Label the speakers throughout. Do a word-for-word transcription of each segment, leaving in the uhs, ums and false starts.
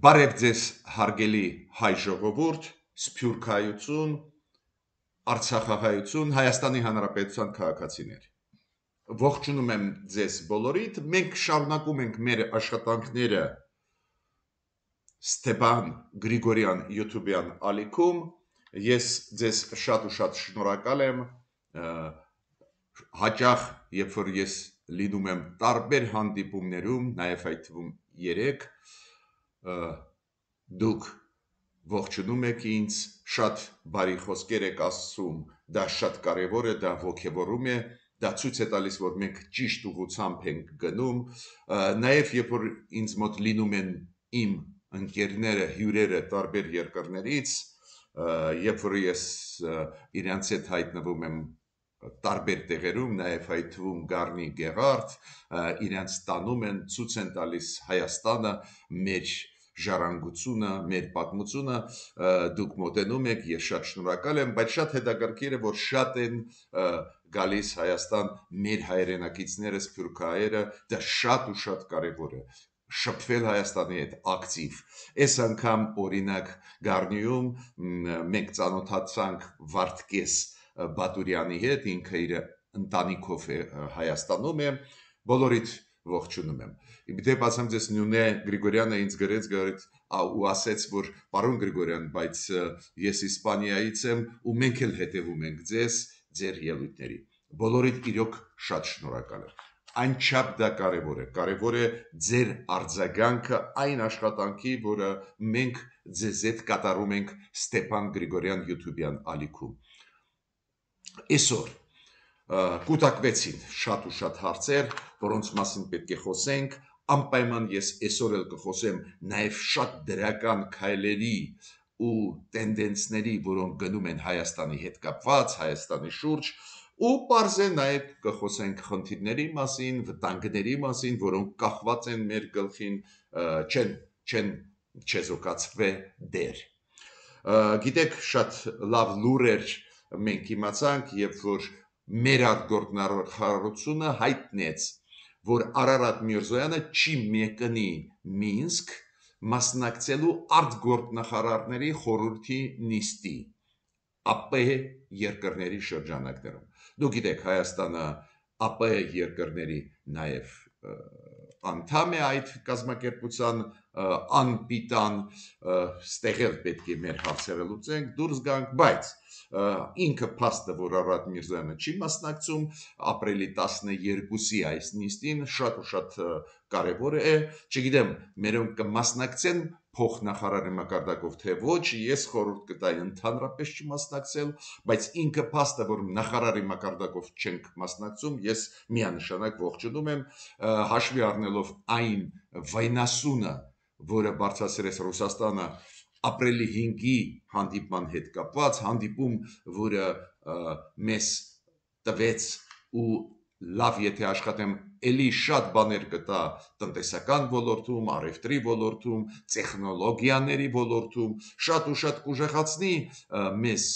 Speaker 1: Բարև ձեզ հարգելի հայ ժողովուրդ, սփյուռքայություն, Արցախահայություն, Հայաստանի Հանրապետության քաղաքացիներ։ Ողջունում եմ ձեզ բոլորիդ, մենք շարունակում ենք մեր աշխատանքները Ստեփան Գրիգորյան YouTube-յան ալիքում, ես ձեզ շատ ու շատ շնորհակալ եմ, հաճախ, երբ որ ես լինում եմ տարբեր հանդիպումներում, նաև այդ թվում երեք, դուք ողջունում եք ինձ, շատ բարի խոսքեր եք ասում, դա շատ կարևոր է, դա ոգևորում է, դա ցույց է տալիս, որ մենք ճիշտ ուղղությամբ ենք գնում, նաև երբ որ ինձ մոտ լինում են իմ ընկերները, հյուրերը տարբեր երկրներից, երբ որ ես իրենց հետ հայտնվում եմ տարբեր տեղերում, նաև այդ թվում Գառնի Գեղարդ, իրենց տանում են, ցույց են տալիս Հայաստանը, մեր ժառանգությունը, մեր պատմությունը, դուք մոտենում եք, ես շատ շնորհակալ եմ, բայց շատ հետաքրքիր է, որ շատ են գալիս Հայաստան մեր հայրենակիցները, սփյուռքահայերը, դա շատ ու շատ կարևոր է, շփվել Հայաստանի հետ ակտիվ։ Այս անգամ օրինակ Գառնիում մենք ծանոթացանք Վարդգես Բատուրյանի հետ, ինքը իր ընտանիքով է Հայաստանում է, բոլորիդ ողջունում եմ։ Իբրև ասեմ ձեզ Նյունե Գրիգորյանը ինձ գրեց գրեց ու ասեց, որ պարոն Գրիգորյան, բայց ես Իսպանիայից եմ ու մենք էլ հետևում ենք ձեզ, ձեր ելույթների։ Բոլորիդ իրոք շատ շնորհակալ եմ։ Անչափ դա կարևոր է, կարևոր է ձեր արձագանքը այն աշխատանքի, որը մենք ձեզ հետ կատարում ենք Ստեփան Գրիգորյան YouTube-յան ալիքում։ Այսօր կուտակվեցին շատ ու շատ հարցեր, որոնց մասին պետք է խոսենք, անպայման ես այսօր էլ կխոսեմ նաև շատ դրական քայլերի ու տենդենսների, որոնք գնում են Հայաստանի հետ կապված, Հայաստանի շուրջ, ու պարզե նաև կխոսենք խնդիրների մասին, վտանգների մասին, որոնք կախված են մեր գլխին, չեն, չեն չեզոքացվե դեր։ Գիտեք, շատ լավ լուրեր մենք իմացանք, երբ որ մեր արտգործնախարարությունը հայտնեց, որ Արարատ Միրզոյանը չի մեկնի Մինսկ մասնակցելու արտգործնախարարների խորհրդի նիստի ԱՊ երկրների շրջանակներում։ Դուք գիտեք, Հայաստանը ԱՊ երկրների նաև անդամ է այդ կազմակերպության անպիտան, ստեղել պետք է մեր հարցերը լուծենք, դուրս գանք, բայց ինքը փաստը, որ Արարատ Միրզոյանը չի մասնակցում, ապրիլի տասներկուսի այս նիստին շատ ու շատ կարևոր է, չգիտեմ, մերոնք կմասնակցեն փոխնախարարի մակարդակով, թե ոչ, ես խորհուրդ կտայի ընդհանրապես չմասնակցել, բայց ինքը փաստը, որ նախարարի մակարդակով չենք մասնակցում, ես միանշանակ ողջունում եմ, հաշվի առնելով այն վայնասունը, որը բարձրացրեց Ռուսաստանը ապրիլի հինգի հանդիպման հետ կապված, հանդիպում, որը մեզ տվեց ու լավ եթե աշխատեմ, էլի շատ բաներ կտա տնտեսական ոլորտում, առևտրի ոլորտում, տեխնոլոգիաների ոլորտում, շատ ու շատ կուժեղացնի մեզ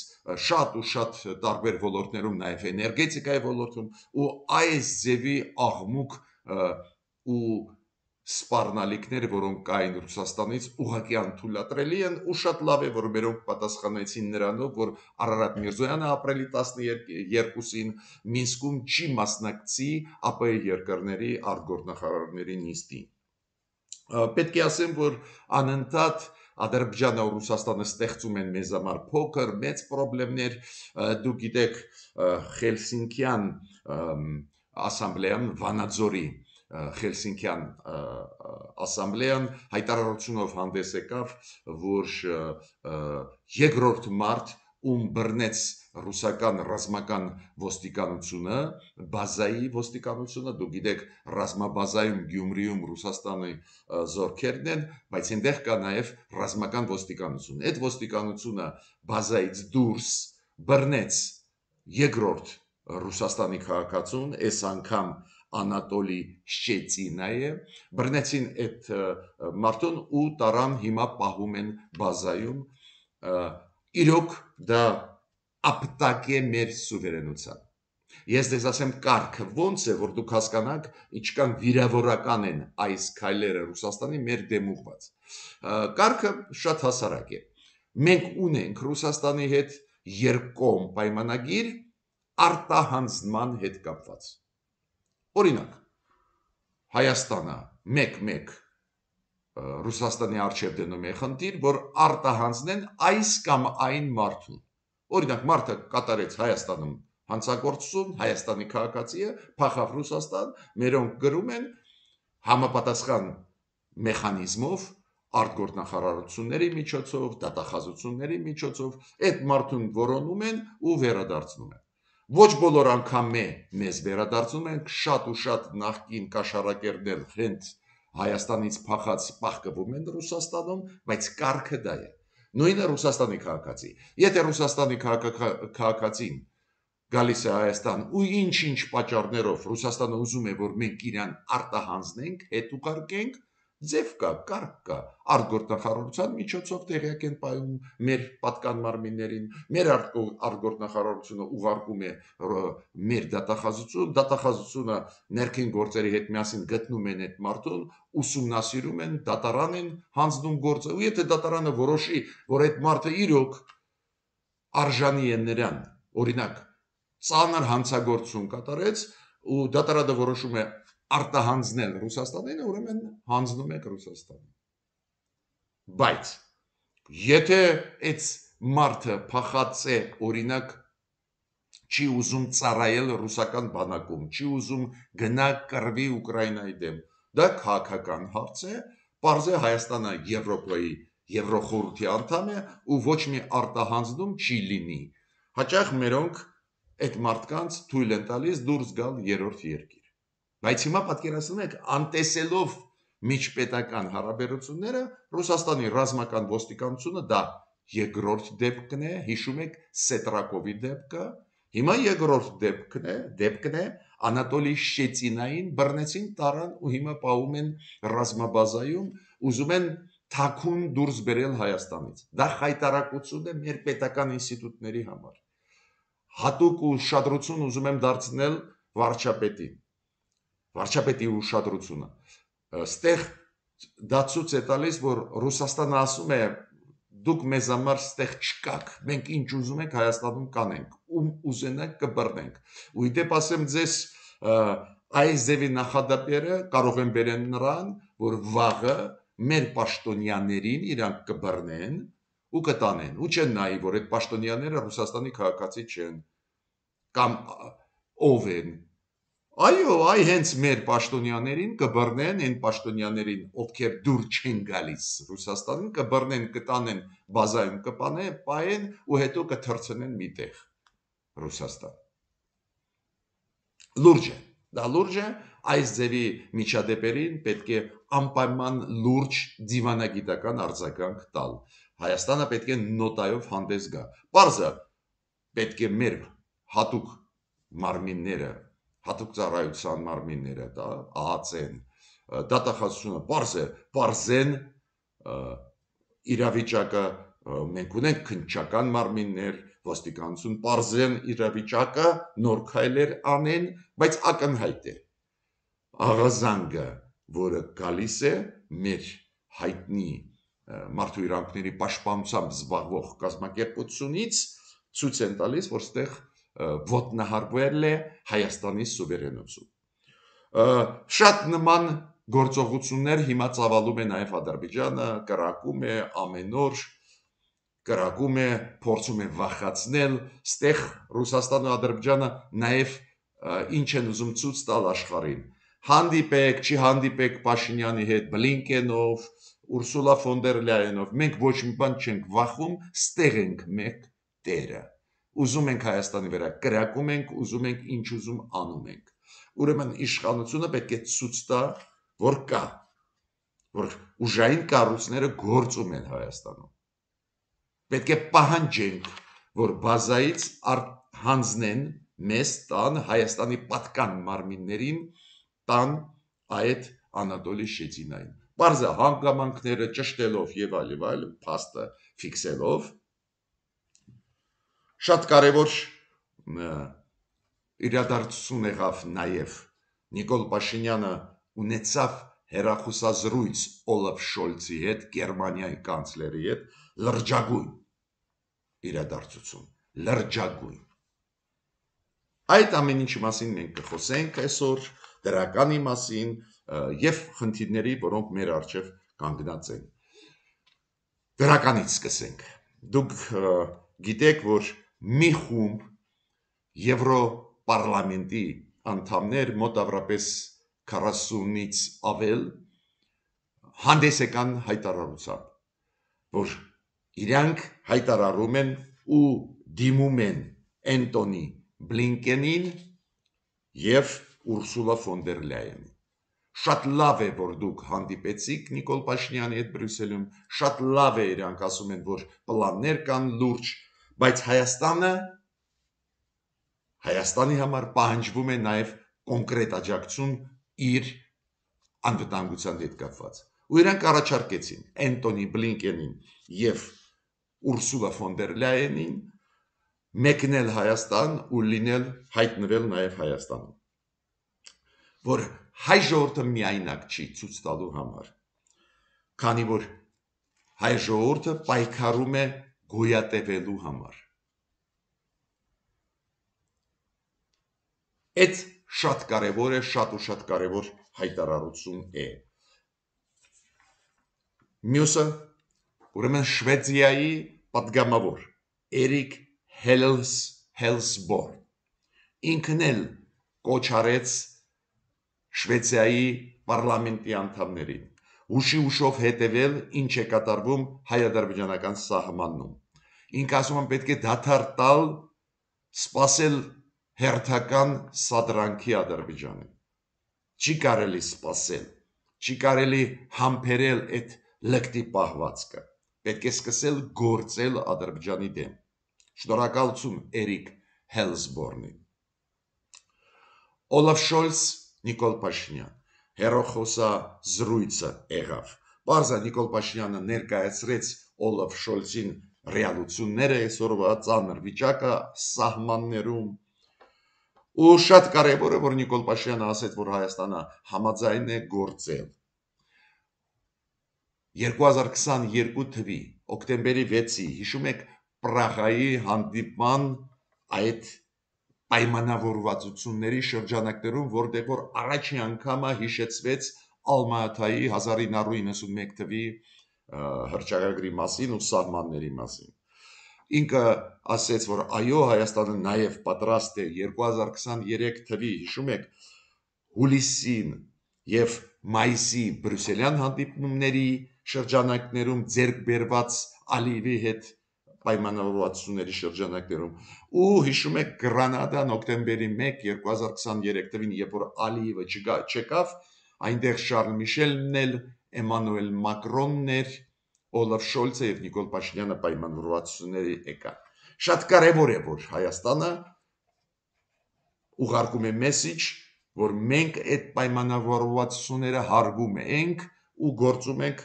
Speaker 1: շատ ու շատ տարբեր ոլորտներում, նաև էներգետիկայի ոլորտում, ու այս ձևի աղմուկ ու սպառնալիքները, որոնք կային Ռուսաստանից, ուղղակի անթույլատրելի են, ու շատ լավ է, որ մերոնք պատասխանեցին նրանով, որ Արարատ Միրզոյանը ապրիլի տասներկուսին Մինսկում չի մասնակցի ԱՊ երկրների արտգործնախարարների նիստին։ Պետք է ասեմ, որ անընդհատ Ադրբեջանը ու Ռուսաստանը ստեղծում են մեզ համար փոքր, մեծ խնդիրներ, դուք գիտեք, Հելսինկյան ասամբլեան, Վանաձորի Հելսինկյան ասամբլեան հայտարարությունով հանդես եկավ, որ երկրորդ մարդ, ում բռնեց ռուսական ռազմական ոստիկանությունը, բազայի ոստիկանությունը, դուք գիտեք, ռազմաբազայում Գյումրիում Ռուսաստանի զորքերն են, բայց այնտեղ կա նաև ռազմական ոստիկանություն։ Այդ ոստիկանությունը բազայից դուրս բռնեց երկրորդ Ռուսաստանի քաղաքացուն, այս անգամ Անատոլի Շչեցինայը, բռնեցին այդ մարդուն ու տարան հիմա պահում են բազայում, իրոք դա ապտակ է մեր սուվերենության։ Ես դες ասեմ կարգը ոնց է, որ դուք հասկանաք, ինչքան վիրավորական են այս քայլերը Ռուսաստանի մեր դեմ ուղված։ Կարգը շատ հասարակ է։ Մենք ունենք Ռուսաստանի հետ երկկողմ պայմանագիր արտահանձնման հետ կապված։ Օրինակ, Հայաստանը մեկ-մեկ Ռուսաստանի արչև դնում է խնդիր, որ արտահանձնեն այս կամ այն մարդուն։ Օրինակ, մարդը կատարեց Հայաստանում հանցագործություն, Հայաստանի քաղաքացի է, փախավ Ռուսաստան, մերոնք գրում են համապատասխան մեխանիզմով, արտգործնախարարությունների միջոցով, դատախազությունների միջոցով, այդ մարդուն որոնում են ու վերադարձնում են։ Ոչ բոլոր անգամ մեզ վերադարձնում են, շատ ու շատ նախկին կաշառակերներ հենց Հայաստանից փախած պահկվում են Ռուսաստանում, բայց կարգը դա է։ Նույնը Ռուսաստանի քաղաքացի։ Եթե Ռուսաստանի քաղաքացին գալիս է Հայաստան ու ինչ-ինչ պատճառներով Ռուսաստանը ուզում է, որ մենք իրան արտահանձնենք, հետ ուղարկենք, ձև կա, կարգ կա, արտգործնախարարության միջոցով տեղյակ են պահում մեր պատկան մարմիններին, մեր արտգործնախարարությունը ուղարկում է մեր դատախազություն, դատախազությունը ներքին գործերի հետ միասին գտնում են այդ մարդուն, ուսումնասիրում են, դատարան են հանձնում գործը, ու եթե դատարանը որոշի, որ այդ մարդը իրոք արժանի է նրան, օրինակ ծանր հանցագործություն կատարեց ու դատարանը որոշում է արտահանձնել Ռուսաստանին, ուրեմն հանձնում եք Ռուսաստանին։ Բայց եթե այդ մարդը փախած է, օրինակ չի ուզում ծառայել ռուսական բանակում, չի ուզում գնա կռվի Ուկրաինայի դեմ, դա քաղաքական հարց է, պարզ է Հայաստանը Եվրոպայի Եվրոխորհրդի անդամ է ու ոչ մի արտահանձնում չի լինի։ Հաճախ մերոնք այդ մարդկանց թույլ են տալիս դուրս գալ երրորդ երկիր։ Բայց հիմա պատկերացնում եք, անտեսելով միջպետական հարաբերությունները, Ռուսաստանի ռազմական ոստիկանությունը դա երկրորդ դեպքն է, հիշում եք Սետրակովի դեպքը, հիմա երկրորդ դեպքն է, դեպքն է Անատոլի Շեցինային բռնեցին տարան ու հիմա պահում են ռազմաբազայում, ուզում են թաքուն դուրս բերել Հայաստանից։ Դա խայտարակություն է մեր պետական ինստիտուտների համար։ Հատուկ ուշադրություն ուզում եմ դարձնել վարչապետին։ Վարչապետի ուշադրությունը։ Ստեղ դա ցույց է տալիս, որ Ռուսաստանը ասում է դուք մեզ համար ստեղ չկաք, մենք ինչ ուզում ենք Հայաստանում կանենք, ում ուզենանք կբռնենք։ Ու իդեպ ասեմ ձեզ, այս ձևի նախադեպերը կարող են բերել նրան, որ վաղը մեր պաշտոնյաներին իրանք կբռնեն ու կտանեն, ու չեն նայի, որ այդ պաշտոնյաները Ռուսաստանի քաղաքացի չեն, կամ ով են։ Այո, այ հենց մեր պաշտոնյաներին կբռնեն, այն պաշտոնյաներին, ովքեր դուր չեն գալիս Ռուսաստանին, կբռնեն, կտանեն, բազայում կպանեն, պահեն ու հետո կթռցնեն միտեղ Ռուսաստան։ Լուրջ է, դա լուրջ է, այս ձևի միջադեպերին պետք է անպայման լուրջ դիվանագիտական արձագանք տալ։ Հայաստանը պետք է նոտայով հանդես գա։ Պարզը պետք է մեր հատուկ մարմինները, հատուկ ծառայության մարմինները, դա ԱԱՑ-ն, դատախազությունը, պարզ է, պարզեն իրավիճակը, մենք ունենք քննչական մարմիններ, ոստիկանություն, պարզեն իրավիճակը, նոր քայլեր անեն, բայց ակնհայտ է աղազանգը, որը գալիս է մեր հայտնի մարդու իրավունքների պաշտպանությամբ զբաղվող կազմակերպությունից, ցույց են տալիս, որ ստեղ ոտնահարվել է Հայաստանի սուվերենություն։ Շատ նման գործողություններ հիմա ծավալում է նաև Ադրբեջանը, կրակում է ամեն օր, կրակում է, փորձում է վախացնել, ստեղ Ռուսաստանը ու Ադրբեջանը նաև ինչ են ուզում ցույց տալ աշխարհին։ Հանդիպեք, չի հանդիպեք Փաշինյանի հետ, Բլինկենով, Ուրսուլա ֆոն դեր Լայենով, մենք ոչ մի բան չենք վախում, ստեղ ենք մեկ տերը։ Ուզում ենք Հայաստանի վրա կրակում ենք, ուզում ենք ինչ ուզում անում ենք։ Ուրեմն իշխանությունը պետք է ցույց տա, որ կա, որ ուժային կառույցները գործում են Հայաստանում։ Պետք է պահանջենք, որ բազայից հանձնեն մեզ տան Հայաստանի պատկան մարմիններին տան այդ Անատոլի Շեցինային։ Պարզը հանգամանքները ճշտելով եւ այլ եւ այլ փաստը ֆիքսելով շատ կարևոր իրադարձություն եղավ նաև Նիկոլ Փաշինյանը ունեցավ հեռախոսազրույց Օլաֆ Շոլցի հետ, Գերմանիայի կանցլերի հետ, լրջագույն իրադարձություն, լրջագույն։ Այդ ամեն ինչի մասին մենք կխոսենք այսօր, դրականի մասին եւ խնդիրների, որոնք մեր առջև կանգնած են։ Դրականից սկսենք։ Դուք գիտեք, որ մի խումբ Եվրոպարլամենտի անդամներ մոտավորապես քառասունից ավել հանդես եկան հայտարարությամբ, որ իրանք հայտարարում են ու դիմում են Անտոնի Բլինկենին եւ Ուրսուլա ֆոն դեր Լայենին։ Շատ լավ է, որ դուք հանդիպեցիք Նիկոլ Փաշինյանի հետ Բրյուսելում, շատ լավ է իրանք ասում են, որ պլաններ կան լուրջ, բայց Հայաստանը Հայաստանի համար պահանջվում է նաև կոնկրետ աջակցություն իր անվտանգության հետ կապված։ Ու իրանք առաջարկեցին Անտոնի Բլինկենին եւ Ուրսուլա ֆոն դեր Լայենին մեկնել Հայաստան ու լինել հայտնվել նաև Հայաստանում, որ հայ ժողովուրդը միայնակ չի ցույց տալու համար, քանի որ հայ ժողովուրդը պայքարում է գոյատևելու համար։ Այդ շատ կարևոր է, շատ ու շատ կարևոր հայտարարություն է։ Մյուսը, ուրեմն Շվեդիայի պատգամավոր Էրիկ Հելսբորն ինքն էլ կոչ արեց Շվեդիայի պարլամենտի անդամներին հուշի հուշով հետևել, ինչ է կատարվում հայ-ադրբեջանական սահմանում։ Ինք ասում են պետք է դադար տալ, սպասել հերթական սադրանքի Ադրբեջանին։ Չի կարելի սպասել, չի կարելի համբերել այդ լկտի պահվածքը։ Պետք է սկսել գործել Ադրբեջանի դեմ։ Շնորհակալություն Էրիկ Հելսբորնին։ Օլաֆ Շոլց, Նիկոլ Փաշինյան, հեռախոսազրույցը եղավ։ Պարզա Նիկոլ Փաշինյանը ներկայացրեց Օլաֆ Շոլցին ռեալությունները, այսօրվա ծանր վիճակը սահմաններում։ Ու շատ կարևոր է, որ Նիկոլ Փաշինյանը ասեց, որ Հայաստանը համաձայն է գործել։ երկու հազար քսաներկու թվականի օկտեմբերի վեցի, հիշում եք, Պրաղայի հանդիպման այդ պայմանավորվածությունների շրջանակներում, որտեղ որ առաջին անգամը հիշեցվեց Ալմատայի հազար ինը հարյուր իննսունմեկ թվականի հռչակագրի մասին ու սահմանների մասին։ Ինքը ասեց, որ այո, Հայաստանը նաև պատրաստ է երկու հազար քսաներեք թվականի, հիշում եք, հուլիսին եւ մայիսի բրյուսելյան հանդիպումների շրջանակներում ձեռք բերված Ալիևի հետ պայմանավորվածությունների շրջանակներում ու հիշում եք Գրանադան օկտեմբերի մեկը երկու հազար քսաներեք թվականի, երբ որ Ալիևը չեկավ, այնտեղ Շարլ Միշելն էլ, Էմանուել Մակրոնն էր, Օլաֆ Շոլցը եւ Նիկոլ Փաշինյանը պայմանավորվածությունների եկան։ Շատ կարևոր է, որ Հայաստանը ուղարկում է մեսիջ, որ մենք այդ պայմանավորվածությունները հարգում ենք ու գործում ենք,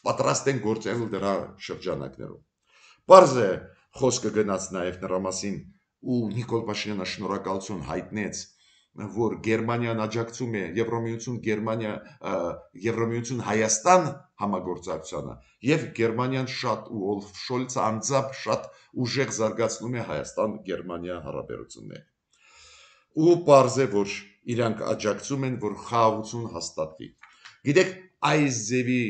Speaker 1: պատրաստ ենք գործել դրա շրջանակներում։ Պարզ է, խոսքը գնաց նաև նրա մասին ու Նիկոլ Փաշինյանը շնորհակալություն հայտնեց, որ Գերմանիան աջակցում է Եվրամիություն Գերմանիա Եվրամիություն Հայաստան համագործակցությանը եւ Գերմանիան շատ ու Օլաֆ Շոլցը անձամբ շատ ուժեղ զարգացնում է Հայաստան-Գերմանիա հարաբերությունները։ Ու պարզ է, որ իրանք աջակցում են, որ խաղաղություն հաստատվի։ Գիտեք, այս ձևի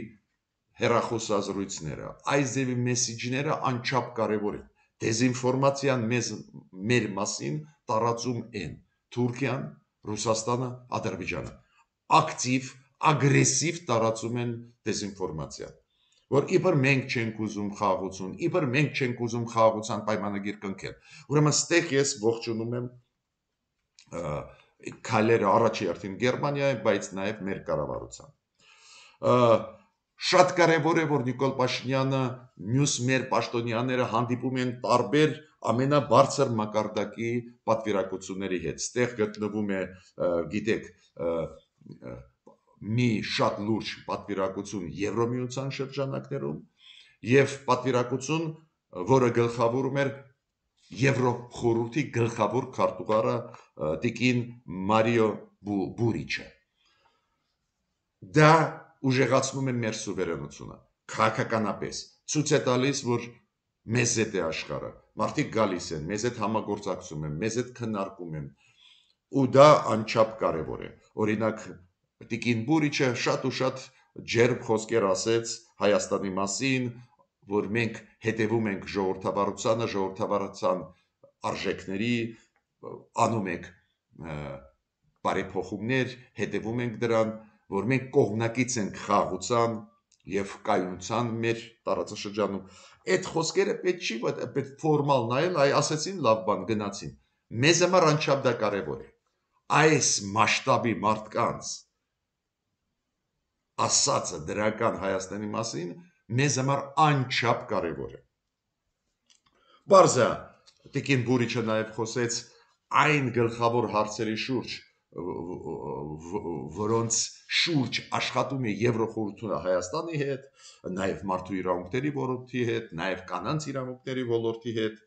Speaker 1: հեռախոսազրույցները, այս ձևի մեսիջները անչափ կարևոր են։ Դեզինֆորմացիան մեզ մեր մասին տարածում են Թուրքիան, Ռուսաստանը, Ադրբեջանը։ Ակտիվ, ագրեսիվ տարածում են դեզինֆորմացիա, որ իբր մենք չենք ուզում խաղաղություն, իբր մենք չենք ուզում խաղաղության պայմանագիր կնքել։ Ուրեմն ստեղ ես ողջունում եմ քայլերը առաջի հերթին Գերմանիայի, բայց նաև մեր կառավարության։ Շատ կարևոր է, որ Նիկոլ Փաշինյանը մյուս մեր պաշտոնյաները հանդիպում են տարբեր ամենաբարձր մակարդակի պատվիրակությունների հետ։ Ստեղ գտնվում է, գիտեք, մի շատ լուրջ պատվիրակություն Եվրամիության շրջանակներում եւ պատվիրակություն, որը գլխավորում էր Եվրոխորհրդի գլխավոր քարտուղարը տիկին Մարիո Բուրիչը։ Դա ուժեղացնում է մեր սուվերենությունը, քաղաքականապես ցույց է տալիս, որ մեզ հետ է աշխարհը, մարդիկ գալիս են, մեզ հետ համագործակցում են, մեզ հետ քննարկում են, ու դա անչափ կարևոր է։ Օրինակ, տիկին Բուրիչը շատ ու շատ ջերմ խոսքեր ասեց Հայաստանի մասին, որ մենք հետևում ենք ժողովրդավարությանը, ժողովրդավարության արժեքների, անում ենք բարեփոխումներ, հետևում ենք դրան, որ մենք կողմնակից ենք խաղաղության եւ կայունության մեր տարածաշրջանում։ Այդ խոսքերը պետք չի պետք ֆորմալ նայել, այ ասեցին լավ բան, գնացին։ Մեզ համար անչափ դա կարևոր է։ Այս մասշտաբի մարդկանց ասածը դրական Հայաստանի մասին մեզ համար անչափ կարևոր է։ Բարձա տիկին Բուրիչը նաև խոսեց այն գլխավոր հարցերի շուրջ, որոնց շուրջ աշխատում է Եվրոխորհուրդը Հայաստանի հետ, նաև մարդու իրավունքների ոլորտի հետ, նաև կանանց իրավունքների ոլորտի հետ,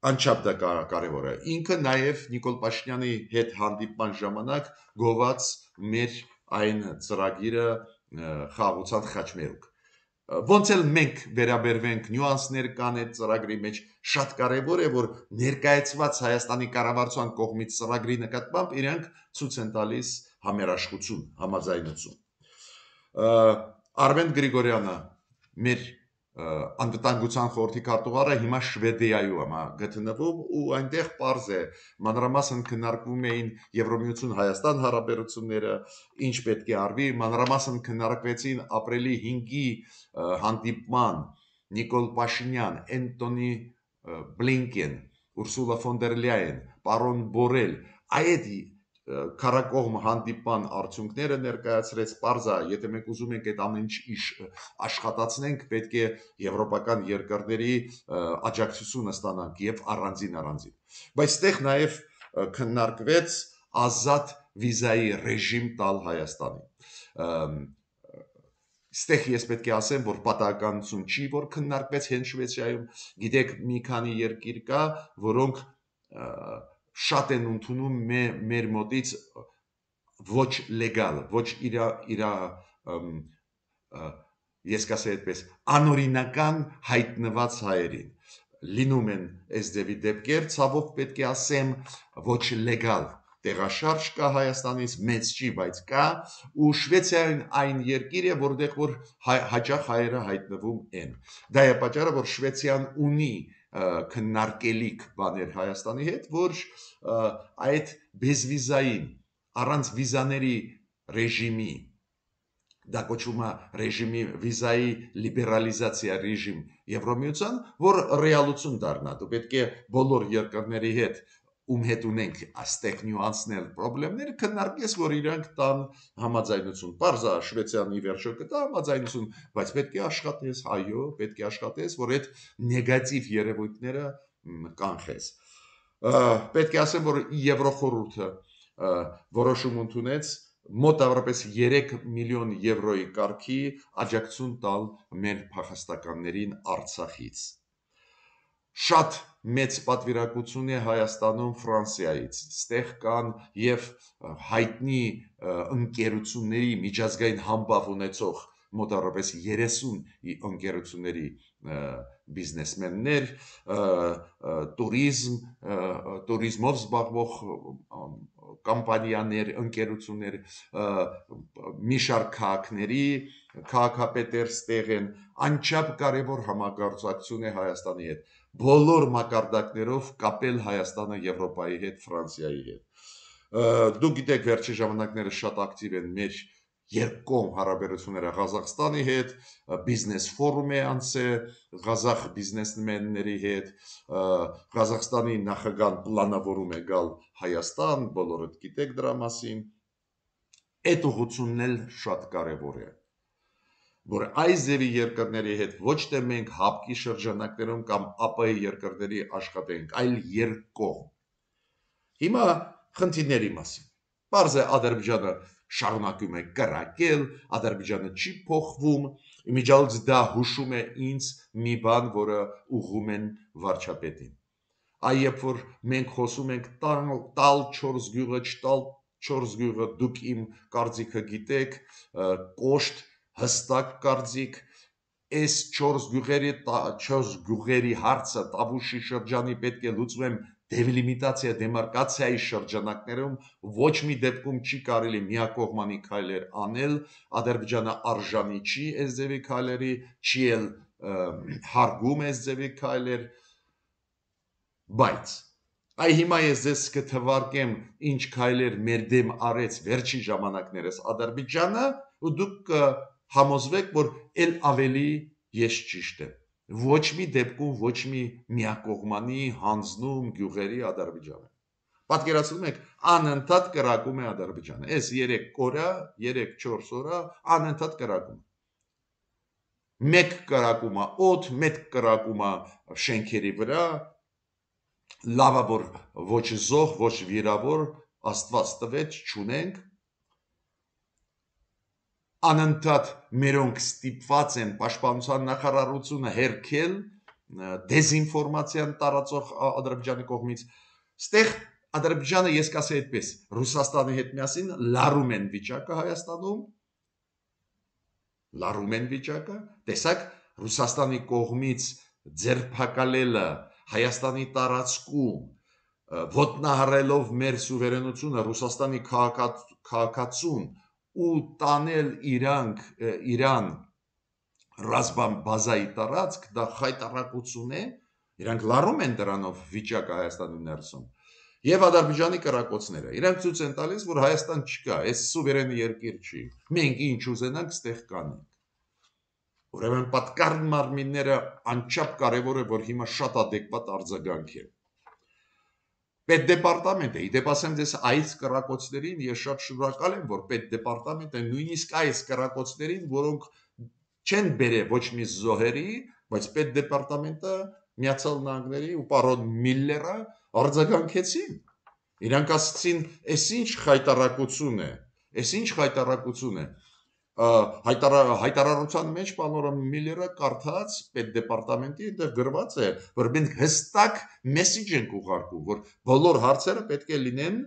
Speaker 1: անչափ դա կարևոր է։ Ինքը նաև Նիկոլ Փաշինյանի հետ հանդիպման ժամանակ գոված մեր այն ծրագիրը խաղաղության խաչմերուկ։ Ոնց էլ մենք վերաբերվենք, նյուանսներ կան այդ ծրագրի մեջ, շատ կարևոր է, որ ներկայացված Հայաստանի կառավարության կողմից ծրագրի նկատմամբ իրենք ցույց են տալիս համերաշխություն, համաձայնություն։ Արմեն Գրիգորյանը, մեր անվտանգության խորհրդի քարտուղարը, հիմա Շվեդիայում է գտնվում ու այնտեղ պարզ է, մանրամասն քննարկվում էին Եվրամիություն Հայաստան հարաբերությունները, ինչ պետք է արվի, մանրամասն քննարկվեցին ապրիլի հինգի հանդիպման Նիկոլ Փաշինյան, Էնտոնի Բլինկեն, Ուրսուլա ֆոն դեր Լյաեն, պարոն Բորել, այդ քարակողմ հանդիպման արդյունքները ներկայացրեց պարզա, եթե մենք ուզում ենք այդ ամեն ինչ աշխատացնենք, պետք է եվրոպական երկրների աջակցությունը ստանանք եւ առանձին առանձին։ Բայց այդտեղ նաեւ քննարկվեց ազատ վիզայի ռեժիմ տալ Հայաստանին։ Ստեղ ես պետք է ասեմ, որ պատահականություն չի, որ քննարկվեց հենց Շվեդիայում, գիտեք, մի քանի երկիր կա, որոնք շատ են ընդունում մեր մոտից ոչ լեգալ, ոչ իրա իրա ես կասեի այդպես, անօրինական հայտնված հայերին։ Լինում են այս դեպի դեպքեր, ցավոք պետք է ասեմ, ոչ լեգալ տեղաշարժ կա Հայաստանից, մեծ չի, բայց կա, ու Շվեդիան այն երկիր է, որտեղ որ հաճախ հայերը հայտնվում են։ Դա է պատճառը, որ Շվեդիան ունի քննարկելիք բաներ Հայաստանի հետ, որ այդ բեզվիզային առանց վիզաների ռեժիմի, դա կոչվում է ռեժիմի վիզայի լիբերալիզացիա ռեժիմ Եվրամիության, որ ռեալություն դառնա։ Դու պետք է բոլոր երկրների հետ ում հետ ունենք այստեղ նյուանսներ, խնդիրներ քննարկես, որ իրանք տան համաձայնություն։ Պարզա Շվեդիան ի վերջո կտա համաձայնություն, բայց պետք է աշխատես, այո, պետք է աշխատես, որ այդ նեգատիվ երևույթները կանխես։ Պետք է ասեմ, որ Եվրոխորհուրդը որոշում ընդունեց մոտավորապես երեք միլիոն եվրոյի կարգի աջակցություն տալ մեր փախստականներին Արցախից։ Շատ մեծ պատվիրակություն է Հայաստանում Ֆրանսիայից, ստեղ կան եւ հայտնի ընկերությունների միջազգային համբավ ունեցող մոտավորապես երեսուն ընկերությունների բիզնեսմեններ, տուրիզմ, տուրիզմով զբաղվող կամպանիաներ, ընկերություններ, մի շարք քաղաքների քաղաքապետեր ստեղ են, անչափ կարևոր համագործակցություն է Հայաստանի հետ, բոլոր մակարդակներով կապել Հայաստանը Եվրոպայի հետ, Ֆրանսիայի հետ։ Դու գիտեք, վերջի ժամանակները շատ ակտիվ են մեր երկկողմ հարաբերությունները Ղազախստանի հետ, բիզնես ֆորում է անցել Ղազախ բիզնեսմենների հետ, Ղազախստանի նախագահան պլանավորում է գալ Հայաստան, բոլորդ գիտեք դրա մասին։ Այդ ուղղությունն էլ շատ կարևոր է, որ այս ձևի երկրների հետ ոչ թե մենք հապկի շրջանակներում կամ ԱՊՀ երկրների աշխատենք, այլ երկկողմ։ Հիմա խնդիրների մասին։ Պարզ է Ադրբեջանը շարունակում է կրակել, Ադրբեջանը չի փոխվում, իմիջիալից դա հուշում է ինձ մի բան, որը ուղղում են վարչապետին։ Այ երբ որ մենք խոսում ենք տալ չորս գյուղը, չտալ չորս գյուղը, դուք իմ կարծիքը գիտեք, կոշտ, հստակ կարծիք, այս չորս գյուղերի չորս գյուղերի հարցը Տավուշի շրջանի պետք է լուծվեմ դելիմիտացիա դեմարկացիայի շրջանակներում ոչ մի դեպքում չի կարելի միակողմանի քայլեր անել, Ադրբեջանը արժանի չի այս ձևի քայլերի, չի էլ հարգում այս ձևի քայլեր, բայց այ հիմա ես ձեզ կթվարկեմ ինչ քայլեր մեր դեմ արեց վերջին ժամանակներս Ադրբեջանը ու դուք համոզվեք, որ ել ավելի ես ճիշտ եմ։ Ոչ մի դեպքում ոչ մի միակողմանի հանձնում գյուղերի Ադրբեջանը։ Պատկերացնում եք, անընդհատ կրակում է Ադրբեջանը։ Այս երեք օրը, երեք-չորս օրը անընդհատ կրակում։ Մեկ կրակում է օդ, մեկ կրակում է շենքերի վրա, լավա որ ոչ զոհ, ոչ վիրավոր, Աստված տվեց, չունենք։ Անընդհատ մերոնք ստիպված են պաշտպանության նախարարությունը հերքել դեզինֆորմացիան տարածող Ադրբեջանի կողմից։ Ստեղ Ադրբեջանը, ես կասեի այդպես, Ռուսաստանի հետ միասին լարում են վիճակը Հայաստանում, լարում են վիճակը, տեսակ Ռուսաստանի կողմից ձերբակալելը Հայաստանի տարածքում, ոտնահարելով մեր սուվերենությունը, Ռուսաստանի քաղաքացուն ու տանել իրանք Իրան ռազմական բազայի տարածք, դա խայտարակություն է, իրանք լարում են դրանով վիճակը Հայաստանի ներսում, եւ Ադրբեջանի կրակոցները, իրանք ցույց են տալիս, որ Հայաստան չկա, այս սուվերեն երկիր չի, մենք ինչ ուզենանք ստեղ կանենք։ Ուրեմն պատկառ մարմինները անչափ կարևոր է, որ հիմա շատ adekvat արձագանք է։ Պետդեպարտամենտը, իդեպ ասեմ ձեզ այս կրակոցներին ես շատ շնորհակալ եմ, որ պետդեպարտամենտը նույնիսկ այս կրակոցներին, որոնք չեն բերել ոչ մի զոհերի, բայց պետդեպարտամենտը Միացյալ Նահանգների ու պարոն Միլլերը արձագանքեցին։ Իրանք ասացին, «Էս ինչ խայտարակություն է, էս ինչ խայտարակություն է»։ Հայտարարության մեջ պարոն Միլլերը կարդաց պետդեպարտամենտի, այնտեղ գրված է, որ մենք հստակ մեսիջ ենք ուղարկում, որ բոլոր հարցերը պետք է լինեն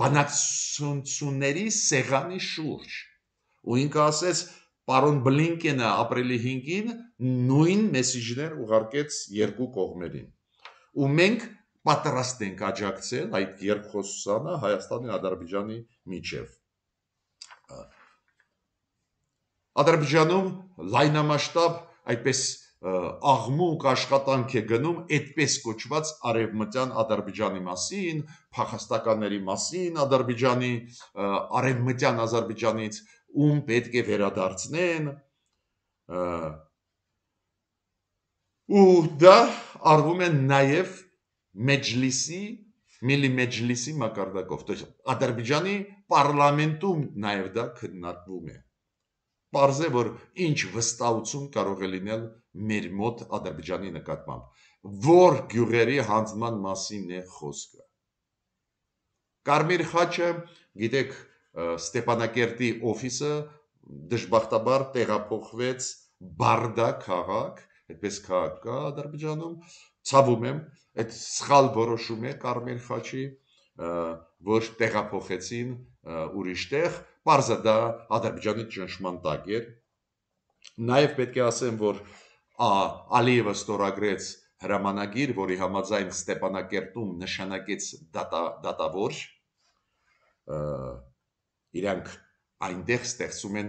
Speaker 1: բանակցությունների սեղանի շուրջ։ Ու ինքը ասեց, պարոն Բլինկենը ապրիլի հինգին նույն մեսիջներ ուղարկեց երկու կողմերին։ Ու մենք պատրաստ ենք աջակցել այդ երկխոսությանը Հայաստանի ու Ադրբեջանի միջև։ Ադրբեջանում լայնամասշտաբ այդպես աղմուկ աշխատանք է գնում այդպես կոչված արևմտյան Ադրբեջանի մասին, փախստականների մասին, Ադրբեջանի արևմտյան Ադրբեջանից ում պետք է վերադարձնեն, ու դա արվում է նաև Մեջլիսի, Միլի Մեջլիսի մակարդակով, то есть Ադրբեջանի պարլամենտում նաև դա քննարկվում է։ Պարզ է, որ ինչ վստահություն կարող է լինել մեր մոտ Ադրբեջանի նկատմամբ, որ գյուղերի հանձնման մասին է խոսքը։ Կարմիր խաչը, գիտեք, Ստեփանակերտի օֆիսը դժբախտաբար տեղափոխվեց Բարդա քաղաք, այդպես քաղաք կա Ադրբեջանում, ցավում եմ, այդ սխալ որոշում է Կարմիր խաչի, որ տեղափոխեցին ուրիշ տեղ, պարզը դա Ադրբեջանի ճնշման տակ էր։ Նաև պետք է ասեմ, որ Ալիևը ստորագրեց հրամանագիր, որի համաձայն Ստեփանակերտում նշանակեց դատավոր, իրանք այնտեղ ստեղծում են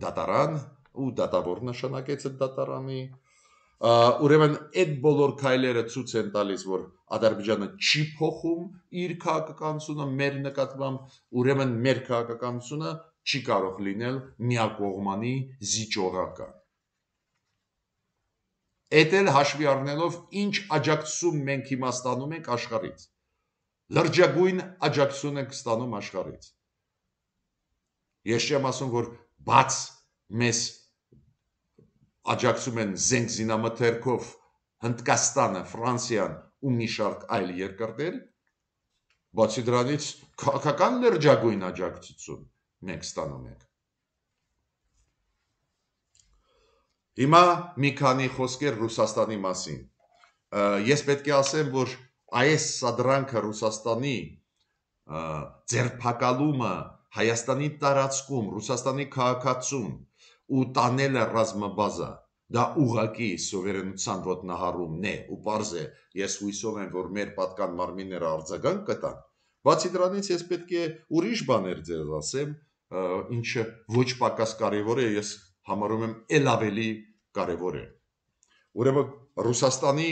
Speaker 1: դատարան ու դատավոր նշանակեց այդ դատարանի։ Ուրեմն այդ բոլոր քայլերը ցույց են տալիս, որ Ադրբեջանը չի փոխում իր քաղաքականությունը մեր նկատմամբ, ուրեմն մեր քաղաքականությունը չի կարող լինել միակողմանի զիջողական։ Էդ էլ հաշվի առնելով ինչ աջակցություն մենք հիմա ստանում ենք աշխարհից։ Լրջագույն աջակցություն ենք ստանում աշխարհից։ Ես չեմ ասում, որ բաց մեզ աջակցում են զենք զինամթերքով Հնդկաստանը, Ֆրանսիան ու մի շարք այլ երկրներ, բացի դրանից քաղաքական լրջագույն աջակցություն, մենք ստանում ենք։ Հիմա մի քանի խոսքեր Ռուսաստանի մասին։ Ես պետք է ասեմ, որ այս սադրանքը Ռուսաստանի ձերբակալումը Հայաստանի տարածքում, Ռուսաստանի քաղաքացուն ու տանելը ռազմաբազա, դա ուղղակի սովերենության ոտնահարումն է ու պարզ է, ես հույսով եմ, որ մեր պատկան մարմինները արձագանք կտան, բացի դրանից ես պետք է ուրիշ բաներ ձեզ ասեմ, ինչը ոչ պակաս կարևոր է, ես համարում եմ էլ ավելի կարևոր է։ Ուրեմն Ռուսաստանի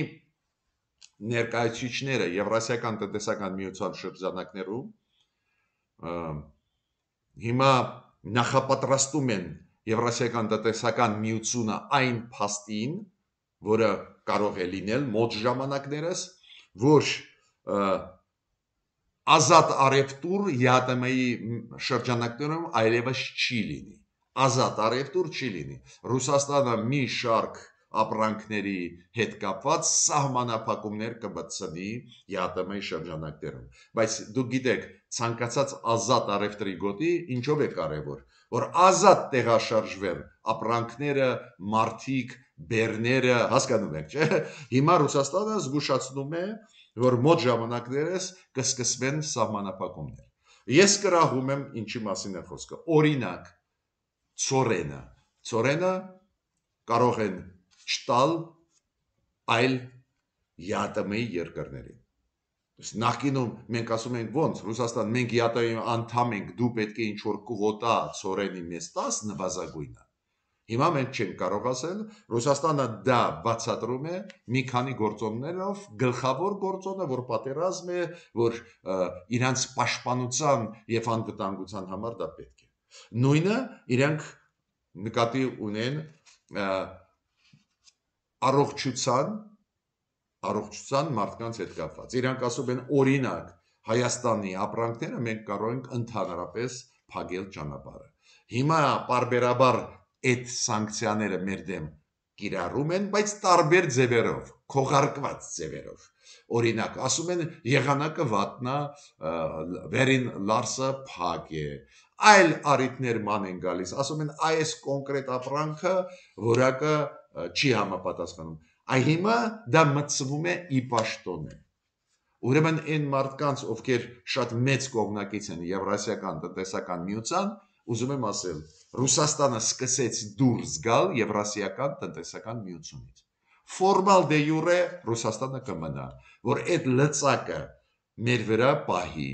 Speaker 1: ներկայացուցիչները Եվրասիական տնտեսական միության շրջանակներում հիմա նախապատրաստում են Եվրասիական տնտեսական միությունը այն փաստին, որը կարող է լինել մոտ ժամանակներս, որ ազատ առևտուր ԵԱՏՄ-ի շրջանակներում այլևս չի լինի։ Ազատ առևտուր չի լինի։ Ռուսաստանը մի շարք ապրանքների հետ կապված սահմանափակումներ կմտցնի ԵԱՏՄ-ի շրջանակներում։ Բայց դուք գիտեք, ցանկացած ազատ առևտրի գոտի ինչով է կարևոր, որ ազատ տեղաշարժվեն ապրանքները, մարդիկ, բեռները, հասկանում եք, չէ՞։ Հիմա Ռուսաստանը զգուշացնում է, որ մոտ ժամանակներս կսկսվեն սահմանափակումներ։ Ես կրահում եմ ինչի մասին է խոսքը։ Օրինակ, ծորենը, ծորենը կարող են չտալ այլ ԵԱՏՄ-ի երկրներին։ Նախկինում մենք ասում ենք ոնց, Ռուսաստան, մենք ԵԱՏՄ-ի անդամ ենք, դու պետք է ինչ-որ կղոտա ծորենի մեզ տաս նվազագույնը։ Հիմա մենք չենք կարող ասել, Ռուսաստանը դա բացատրում է մի քանի գործոններով, գլխավոր գործոնը, որ պատերազմ է, որ իրանց պաշտպանության եւ անվտանգության համար դա պետք է։ Նույնը իրենք նկատի ունեն առողջության, առողջության մարդկանց հետ կապված։ Իրանք ասում են օրինակ Հայաստանի ապրանքները մենք կարող ենք ընդհանրապես փակել ճանապարհը։ Հիմա պարբերաբար այդ սանկցիաները մեր դեմ կիրառում են, բայց տարբեր ձևերով, քողարկված ձևերով։ Օրինակ, ասում են եղանակը վատնա, վերին լարսը փակ է, այլ առիթներ ման են գալիս, ասում են այս կոնկրետ ապրանքը որակը չի համապատասխանում։ Այ հիմա դա մտցվում է ի պաշտոնե։ Ուրեմն այն մարդկանց, ովքեր շատ մեծ կողմնակից են Եվրասիական տնտեսական միության, ուզում եմ ասել, Ռուսաստանը սկսեց դուրս գալ Եվրասիական տնտեսական միությունից։ Ֆորմալ դե յուրե Ռուսաստանը կմնա, որ այդ լծակը մեր վրա պահի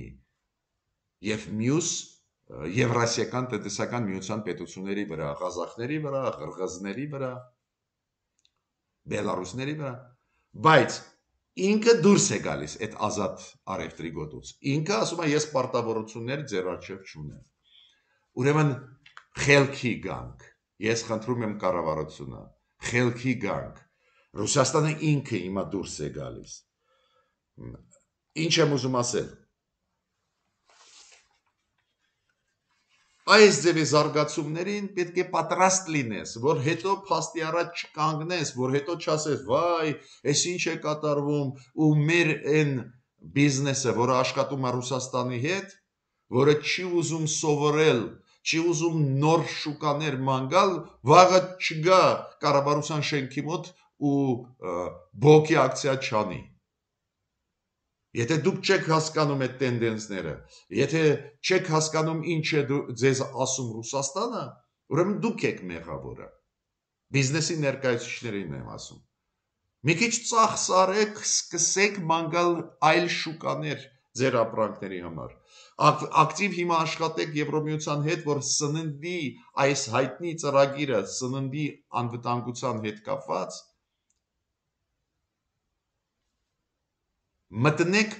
Speaker 1: եւ մյուս Եվրասիական տնտեսական միության պետությունների վրա, ղազախների վրա, ղրղզների վրա, բելարուսների վրա, բայց ինքը դուրս է գալիս այդ ազատ առևտրի գոտուց։ Ինքը ասում է ես պարտավորություններ ձեր առջև չունեմ։ Ուրեմն խելքի գանք, ես խնդրում եմ կառավարությունը, խելքի գանք, Ռուսաստանը ինքը հիմա դուրս է գալիս։ Ինչ եմ ուզում ասել։ Այս ձևի զարգացումներին պետք է պատրաստ լինես, որ հետո փաստի առաջ չկանգնես, որ հետո չասես, վայ, այս ինչ է կատարվում, ու մեր այն բիզնեսը, որը աշխատում է Ռուսաստանի հետ, որը չի ուզում սովորել, չի ուզում նոր շուկաներ ման գալ, վաղը չգա կառավարության շենքի մոտ ու բոկի ակցիա չանի։ Եթե դուք չեք հասկանում այդ տենդենսները, եթե չեք հասկանում ինչ է ձեզ ասում Ռուսաստանը, ուրեմն դուք եք մեղավորը։ Բիզնեսի ներկայացուցիչներին եմ ասում։ Մի քիչ ծախսարեք, սկսեք մանգալ այլ շուկաներ ձեր ապրանքների համար։ Ակտիվ հիմա աշխատեք Եվրոմիության հետ, որ սննդի այս հայտնի ծրագիրը, սննդի անվտանգության հետ կապված մտնեք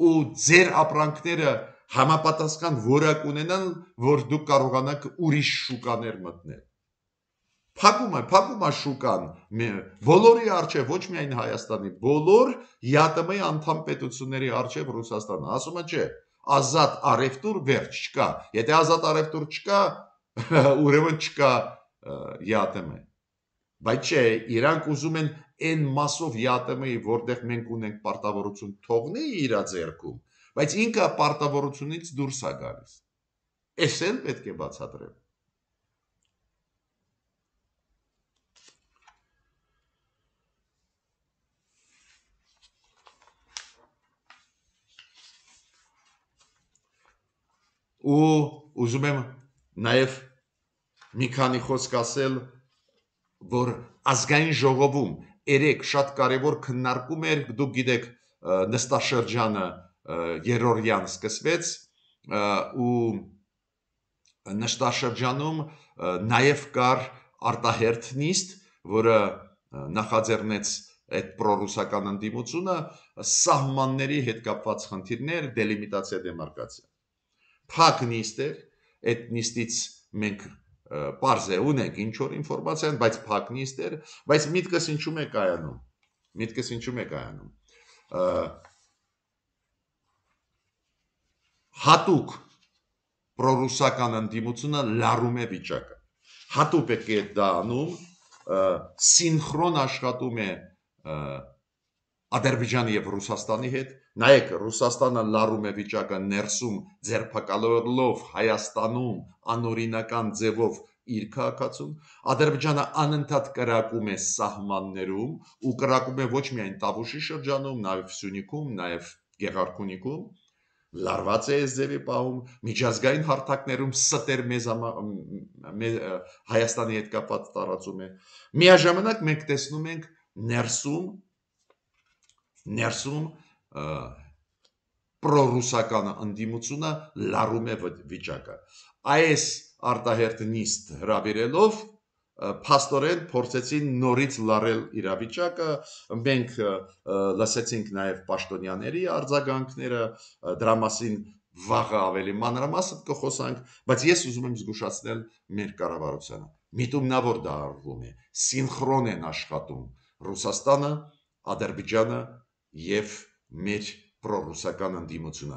Speaker 1: ու ձեր ապրանքները համապատասխան որակ ունենան, որ դուք կարողանաք ուրիշ շուկաներ մտնել։ Փակում է, փակում է շուկան, բոլորի արչև, ոչ միայն Հայաստանի, բոլոր ԵԱՏՄ-ի անդամ պետությունների արչև Ռուսաստանը, ասում է չէ, ազատ առևտուր վերջ չկա, եթե ազատ առևտուր չկա, ուրեմն չկա ԵԱՏՄ։ Բայց չէ, իրանք ուզում են այն մասով ԵԱՏՄ-ի, որտեղ մենք ունենք պարտավորություն թողնի իր ձեռքում, բայց ինքը պարտավորությունից դուրս է գալիս։ Էս էլ պետք է բացատրեմ։ Ու ուզում եմ նաև մի քանի խոսք ասել, որ ազգային ժողովում երեք շատ կարևոր քննարկում էր, դուք գիտեք, նստաշրջանը երրորդյան սկսվեց ու նստաշրջանում նաև կար արտահերթ նիստ, որը նախաձեռնեց այդ պրոռուսական ընդդիմությունը, սահմանների հետ կապված խնդիրներ, դելիմիտացիա, դեմարկացիա։ Փակ նիստ էր, այդ նիստից մենք պարզ է ունենք ինչ որ ինֆորմացիան, բայց փակ նիստ էր, բայց միտքս ինչու՞մ է կայանում։ Միտքս ինչու՞մ է կայանում։ Հատուկ պրոռուսական ընդդիմությունը լարում է վիճակը։ Հատուկ է դա անում, սինխրոն աշխատում է Ադրբեջանի եւ Ռուսաստանի հետ։ Նայեք, Ռուսաստանը լարում է վիճակը ներսում ձերբակալելով Հայաստանում անօրինական ձևով իր քաղաքացուն, Ադրբեջանը անընդհատ կրակում է սահմաններում ու կրակում է ոչ միայն Տավուշի շրջանում, նաև Սյունիքում, նաև Գեղարքունիքում, լարված է այս ձևի պահում, միջազգային հարթակներում ստեր մեզ Հայաստանի հետ կապված տարածում է։ Միաժամանակ մենք տեսնում ենք ներսում ներսում պրոռուսական ընդդիմությունը լարում է վիճակը։ Այս արտահերթ նիստ հրավիրելով փաստորեն փորձեցին նորից լարել իրավիճակը, մենք լսեցինք նաև պաշտոնյաների արձագանքները, դրա մասին վաղը ավելի մանրամասն կխոսանք, բայց ես ուզում եմ զգուշացնել մեր կառավարությանը։ Միտումնավոր դա արվում է, սինխրոն են աշխատում Ռուսաստանը, Ադրբեջանը եւ մեր պրոռուսական ընդդիմությունը,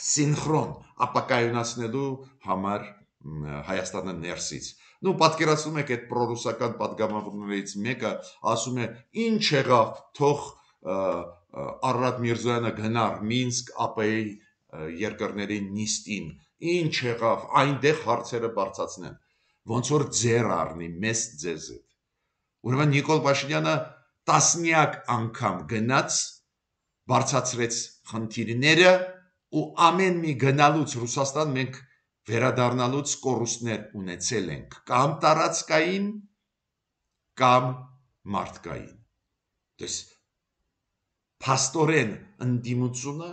Speaker 1: սինխրոն ապակայունացնելու համար Հայաստանը ներսից։ Նու պատկերացնում եք այդ պրոռուսական падգամավորներից մեկը ասում է ինչ եղավ, թող Արարատ Միրզոյանը գնար Մինսկ ԱՊ-ի երկրների նիստին, ինչ եղավ, այնտեղ հարցերը բարձրացնեն, ոնց որ ձեռ առնի մեզ ձեզ հետ։ Ուրեմն Նիկոլ Փաշինյանը տասնյակ անգամ գնաց, բարձրացրեց խնդիրները ու ամեն մի գնալուց Ռուսաստան մենք վերադառնալուց կորուստներ ունեցել ենք, կամ տարածքային, կամ մարդկային։ Դες փաստորեն ընդդիմությունը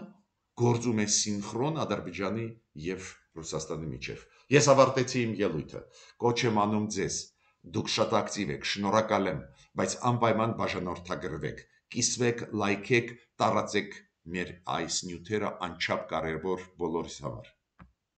Speaker 1: գործում է սինխրոն Ադրբեջանի եւ Ռուսաստանի միջև։ Ես ավարտեցի իմ ելույթը, կոչ եմ անում ձեզ, դուք շատ ակտիվ եք, շնորհակալ եմ, բայց անպայման բաժանորդագրվեք, կիսվեք, լայքեք, տարածեք մեր այս նյութերը անչափ կարևոր բոլորիս համար։